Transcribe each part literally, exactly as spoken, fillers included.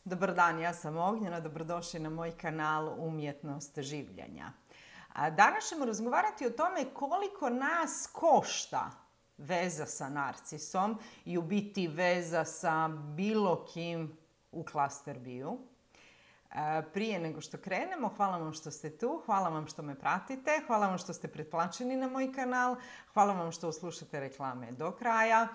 Dobar dan, ja sam Ognjena, dobrodošli na moj kanal Umjetnost življenja. A danas ćemo razgovarati o tome koliko nas košta veza sa narcisom i u biti veza sa bilo kim u Cluster Beeu. Prije nego što krenemo, hvala vam što ste tu, hvala vam što me pratite, hvala vam što ste pretplaćeni na moj kanal, hvala vam što slušate reklame do kraja.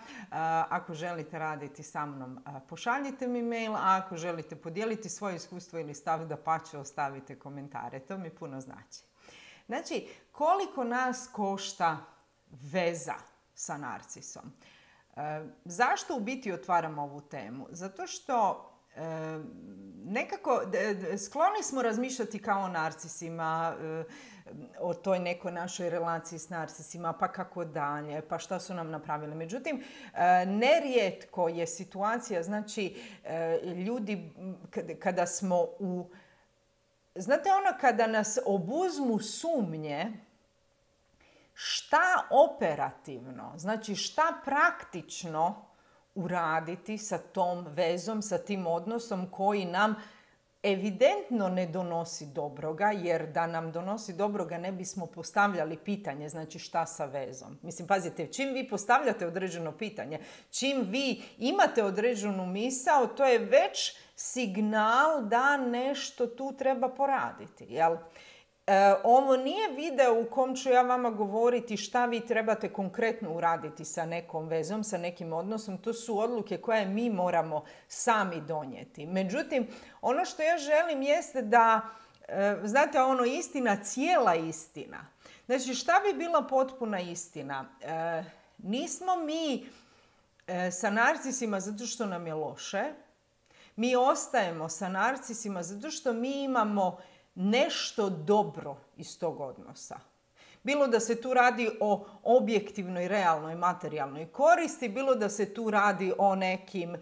Ako želite raditi sa mnom, pošaljite mi mail, a ako želite podijeliti svoje iskustvo ili stav, dapače ostavite komentare, to mi puno znači. Znači, koliko nas košta veza sa narcisom? Zašto u biti otvaram ovu temu? Zato što nekako skloni smo razmišljati kao o narcisima, o toj nekoj našoj relaciji s narcisima, pa kako dalje, pa šta su nam napravili. Međutim, nerijetko je situacija, znači ljudi kada smo u... Znate ono kada nas obuzmu sumnje, šta operativno, znači šta praktično uraditi sa tom vezom, sa tim odnosom koji nam evidentno ne donosi dobroga, jer da nam donosi dobroga ne bismo postavljali pitanje, znači šta sa vezom. Mislim, pazite, čim vi postavljate određeno pitanje, čim vi imate određenu misao, to je već signal da nešto tu treba poraditi, jel? E, ovo nije video u kom ću ja vama govoriti šta vi trebate konkretno uraditi sa nekom vezom, sa nekim odnosom. To su odluke koje mi moramo sami donijeti. Međutim, ono što ja želim jeste da, e, znate, ono istina, cijela istina. Znači, šta bi bila potpuna istina? E, nismo mi e, sa narcisima zato što nam je loše. Mi ostajemo sa narcisima zato što mi imamo nešto dobro iz tog odnosa. Bilo da se tu radi o objektivnoj, realnoj, materijalnoj koristi, bilo da se tu radi o, nekim,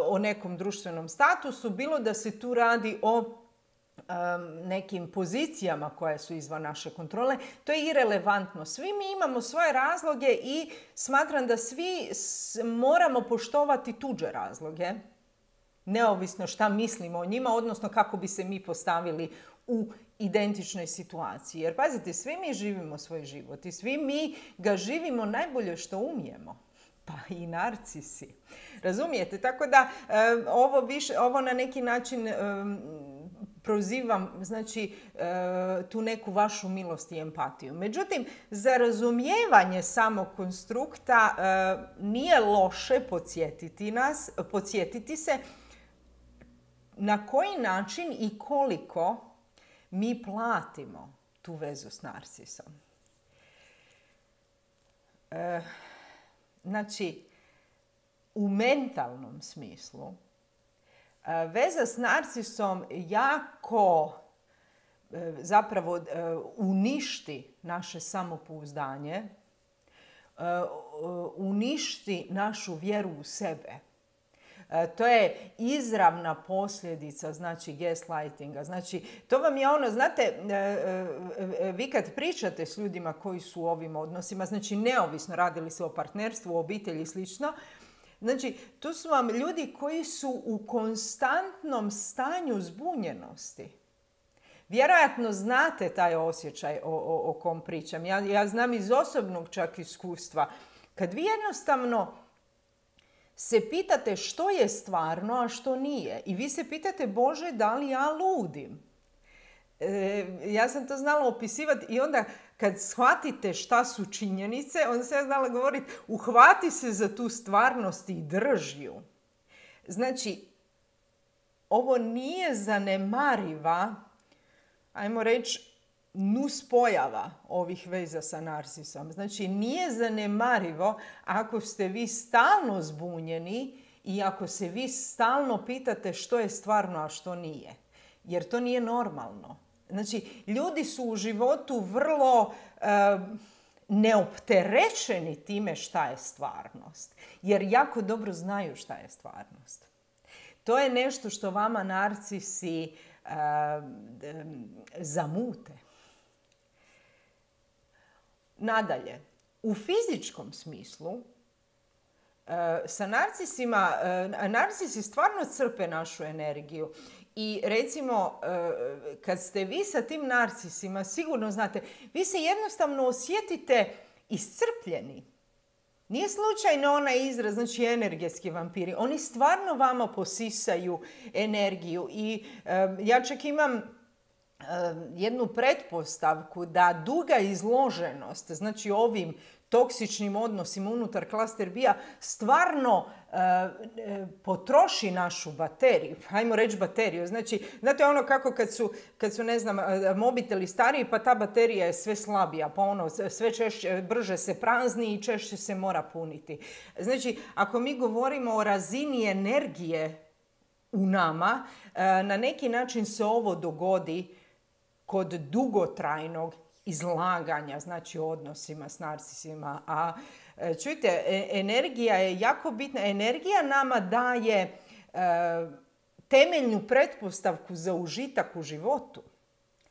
o nekom društvenom statusu, bilo da se tu radi o um, nekim pozicijama koje su izvan naše kontrole. To je irelevantno. Svi mi imamo svoje razloge i smatram da svi moramo poštovati tuđe razloge, neovisno šta mislimo o njima, odnosno kako bi se mi postavili u identičnoj situaciji. Jer pazite, svi mi živimo svoj život i svi mi ga živimo najbolje što umijemo. Pa i narcisi. Razumijete? Tako da ovo, više, ovo na neki način prozivam, znači, tu neku vašu milost i empatiju. Međutim, za razumijevanje samog konstrukta nije loše podsjetiti nas, podsjetiti se na koji način i koliko mi platimo tu vezu s narcisom. E, znači, u mentalnom smislu, e, veza s narcisom jako e, zapravo e, uništi naše samopouzdanje, e, uništi našu vjeru u sebe. To je izravna posljedica, znači, gaslightinga. Znači, to vam je ono, znate, vi kad pričate s ljudima koji su u ovim odnosima, znači, neovisno radili se o partnerstvu, o obitelji i slično, znači, tu su vam ljudi koji su u konstantnom stanju zbunjenosti. Vjerojatno znate taj osjećaj o, o, o kom pričam. Ja, ja znam iz osobnog čak iskustva. Kad vi jednostavno se pitate što je stvarno, a što nije. I vi se pitate, Bože, da li ja ludim? E, ja sam to znala opisivati i onda kad shvatite šta su činjenice, onda sam ja znala govoriti, uhvati se za tu stvarnost i drži ju. Znači, ovo nije zanemariva, ajmo reći, nuspojava ovih veza sa narcisom. Znači, nije zanemarivo ako ste vi stalno zbunjeni i ako se vi stalno pitate što je stvarno, a što nije. Jer to nije normalno. Znači, ljudi su u životu vrlo e, neopterećeni time šta je stvarnost. Jer jako dobro znaju šta je stvarnost. To je nešto što vama narcisi e, zamute. Nadalje, u fizičkom smislu Sa narcisima, narcisi stvarno crpe našu energiju. I recimo, kad ste vi sa tim narcisima, sigurno znate, vi se jednostavno osjetite iscrpljeni. Nije slučajno onaj izraz, znači energetski vampiri. Oni stvarno vama posisaju energiju. I ja čak imam jednu pretpostavku da duga izloženost, znači ovim toksičnim odnosima unutar klaster B-a stvarno e, e, potroši našu bateriju. Hajmo reći bateriju. Znači, znate ono kako kad su, kad su, ne znam, mobiteli stariji, pa ta baterija je sve slabija, pa ono sve češće, brže se prazni i češće se mora puniti. Znači, ako mi govorimo o razini energije u nama, e, na neki način se ovo dogodi kod dugotrajnog izlaganja, znači odnosima s narcisima. A čujte, energija je jako bitna. Energija nama daje e, temeljnu pretpostavku za užitak u životu.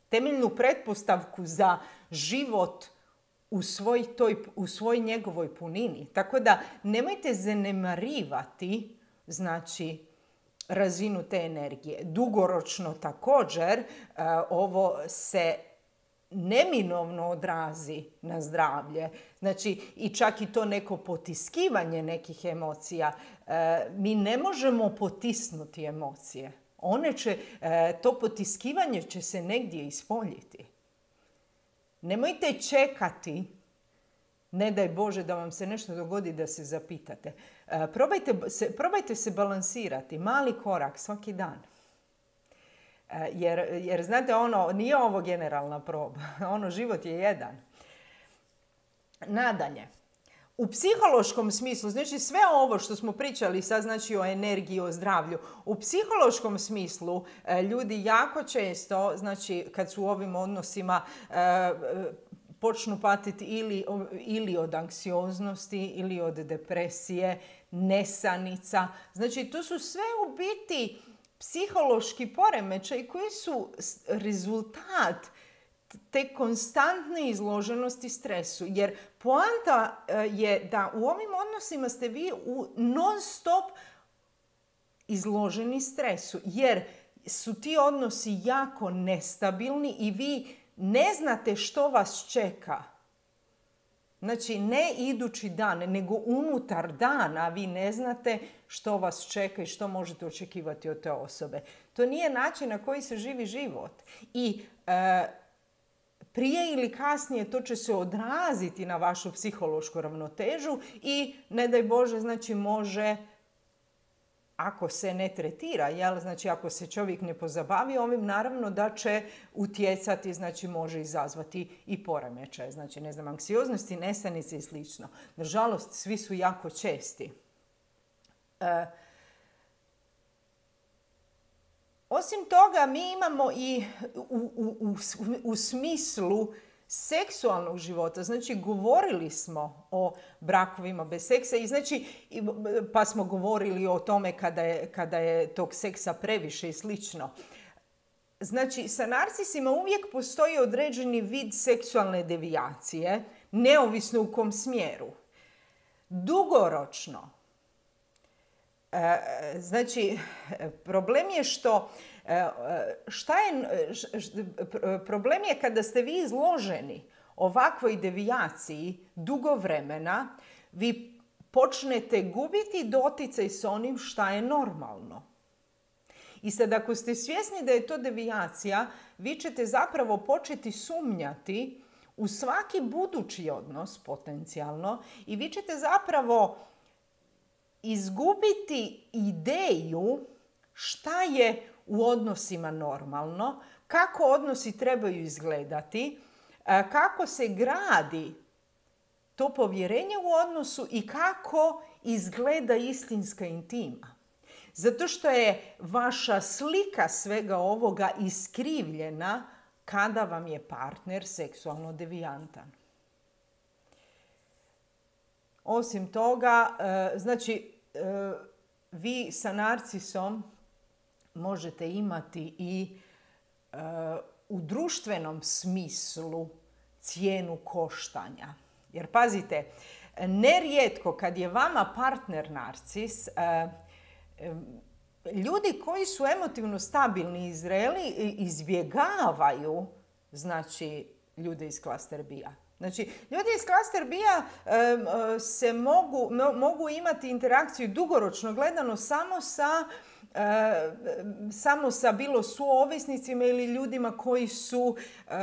Temeljnu pretpostavku za život u svoj, toj, u svoj njegovoj punini. Tako da nemojte zanemarivati, znači, razinu te energije. Dugoročno također e, ovo se neminovno odrazi na zdravlje. Znači, i čak i to neko potiskivanje nekih emocija. E, mi ne možemo potisnuti emocije. One će, e, to potiskivanje će se negdje ispoljiti. Nemojte čekati, ne daj Bože da vam se nešto dogodi da se zapitate. E, probajte, se, probajte se balansirati, mali korak svaki dan. Jer, jer znate, ono, nije ovo generalna proba. Ono, život je jedan. Nadalje, u psihološkom smislu, znači sve ovo što smo pričali sad, znači o energiji, o zdravlju, u psihološkom smislu ljudi jako često, znači kad su u ovim odnosima, počnu patiti ili, ili od anksioznosti, ili od depresije, nesanica. Znači, to su sve u biti psihološki poremećaj koji su rezultat te konstantne izloženosti stresu. Jer poanta je da u ovim odnosima ste vi u non stop izloženi stresu. Jer su ti odnosi jako nestabilni i vi ne znate što vas čeka. Znači, ne idući dan, nego unutar dana vi ne znate što vas čeka i što možete očekivati od te osobe. To nije način na koji se živi život. I e, prije ili kasnije to će se odraziti na vašu psihološku ravnotežu i, ne daj Bože, znači može, ako se ne tretira, jel? Znači ako se čovjek ne pozabavi ovim, naravno da će utjecati, znači može izazvati i poremećaje. Znači, ne znam, anksioznosti, nesanice i slično. Nažalost, svi su jako česti. E, osim toga, mi imamo i u, u, u, u smislu seksualnog života, znači govorili smo o brakovima bez seksa i znači, pa smo govorili o tome kada je, kada je tog seksa previše i slično. Znači, sa narcisima uvijek postoji određeni vid seksualne devijacije, neovisno u kom smjeru. Dugoročno, znači, problem je što Šta je, problem je kada ste vi izloženi ovakvoj devijaciji dugo vremena, vi počnete gubiti doticaj s onim šta je normalno. I sad ako ste svjesni da je to devijacija, vi ćete zapravo početi sumnjati u svaki budući odnos potencijalno i vi ćete zapravo izgubiti ideju šta je u odnosima normalno, kako odnosi trebaju izgledati, kako se gradi to povjerenje u odnosu i kako izgleda istinska intima. Zato što je vaša slika svega ovoga iskrivljena kada vam je partner seksualno devijantan. Osim toga, znači, vi sa narcisom možete imati i uh, u društvenom smislu cijenu koštanja. Jer pazite, nerijetko kad je vama partner narcis, ljudi koji su emotivno stabilni i zreli izbjegavaju, znači, ljude iz klaster B-a. Znači, ljudi iz klaster B-a se mogu, mogu imati interakciju dugoročno gledano samo sa E, samo sa bilo suovisnicima ili ljudima koji su e,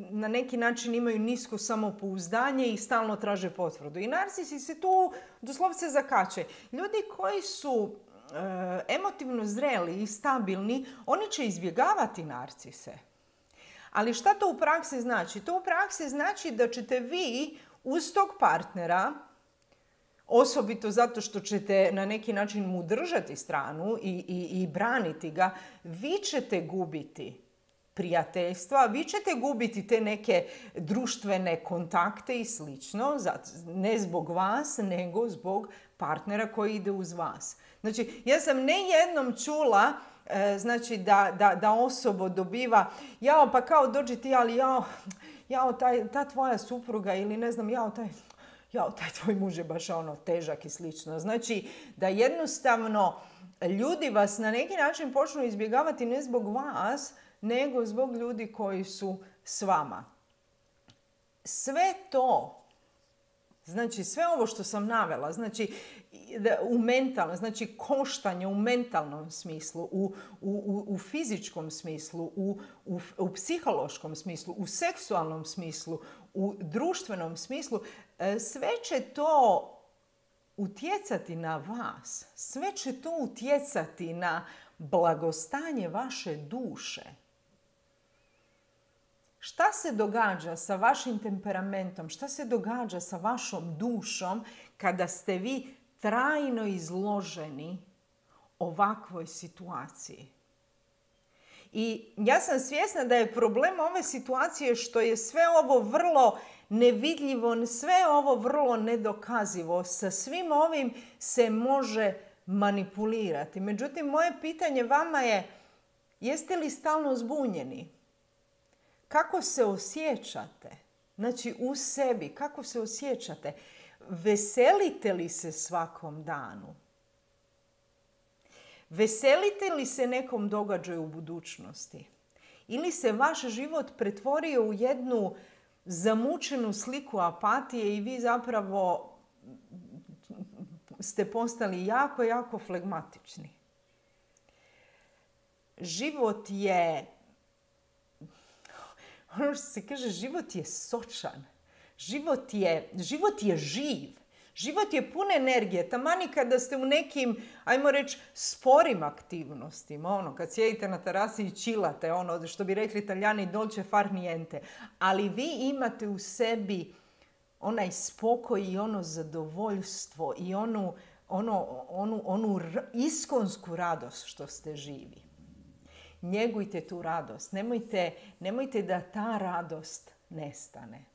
na neki način imaju nisko samopouzdanje i stalno traže potvrdu. I narcisi se tu doslovce zakače. Ljudi koji su e, emotivno zreli i stabilni, oni će izbjegavati narcise. Ali šta to u praksi znači? To u praksi znači da ćete vi uz tog partnera, osobito zato što ćete na neki način mu držati stranu i, i, i braniti ga, vi ćete gubiti prijateljstva, vi ćete gubiti te neke društvene kontakte i slično, ne zbog vas, nego zbog partnera koji ide uz vas. Znači, ja sam ne jednom čula e, znači da, da, da osoba dobiva, jao pa kao dođi ti, ali jao, jao taj, ta tvoja supruga ili ne znam, jao taj... jao, taj tvoj muž je baš ono težak i slično. Znači da jednostavno ljudi vas na neki način počnu izbjegavati ne zbog vas, nego zbog ljudi koji su s vama. Sve to, znači sve ovo što sam navela, znači u mentalnom, znači koštanje u mentalnom smislu, u, u, u fizičkom smislu, u, u, u psihološkom smislu, u seksualnom smislu, u društvenom smislu, sve će to utjecati na vas. Sve će to utjecati na blagostanje vaše duše. Šta se događa sa vašim temperamentom? Šta se događa sa vašom dušom kada ste vi trajno izloženi ovakvoj situaciji? I ja sam svjesna da je problem ove situacije što je sve ovo vrlo nevidljivo, sve ovo vrlo nedokazivo. Sa svim ovim se može manipulirati. Međutim, moje pitanje vama je, jeste li stalno zbunjeni? Kako se osjećate? Znači u sebi, kako se osjećate? Veselite li se svakom danu? Veselite li se nekom događaju u budućnosti? Ili se vaš život pretvorio u jednu zamučenu sliku apatije i vi zapravo ste postali jako, jako flegmatični? Život je, ono što se kaže, život je sočan. Život je, život je živ. Život je pun energije, tamani kada ste u nekim, ajmo reći, sporim aktivnostima, ono, kad sjedite na terasi i čilate, ono, što bi rekli Italijani, dolce far niente. Ali vi imate u sebi onaj spokoj i ono zadovoljstvo i onu, ono, onu, onu iskonsku radost što ste živi. Njegujte tu radost. Nemojte, nemojte da ta radost nestane.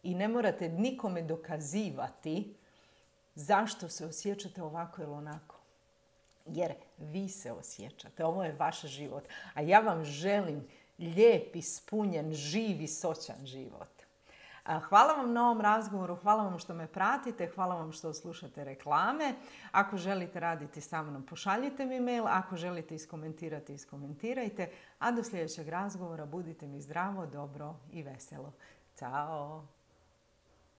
I ne morate nikome dokazivati zašto se osjećate ovako ili onako. Jer vi se osjećate. Ovo je vaš život. A ja vam želim lijep, ispunjen, živ i sočan život. Hvala vam na ovom razgovoru, hvala vam što me pratite, hvala vam što slušate reklame. Ako želite raditi sa mnom, pošaljite mi mail. Ako želite iskomentirati, iskomentirajte. A do sljedećeg razgovora budite mi zdravo, dobro i veselo. Ćao!